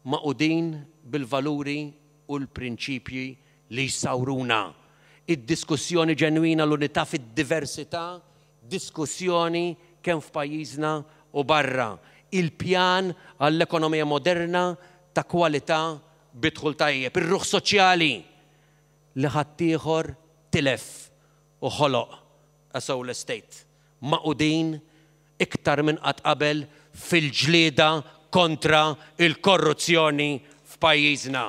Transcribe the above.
Magħqudin bil-valuri u l-prinċipji li jsawruna. Id-diskussjoni ġenwina l-unità fid-diversità, diskussjoni kemm f'pajjiżna u barra. Il-pjan għall-ekonomija moderna ta' kwalità bi dħul tajjeb. Ir-ruħ soċjali li ħaddieħor tilef u ħoloq a soulless state. Magħqudin iktar minn qatt qabel fil-ġlieda kontra il-korruzzjoni f'pajjiżna.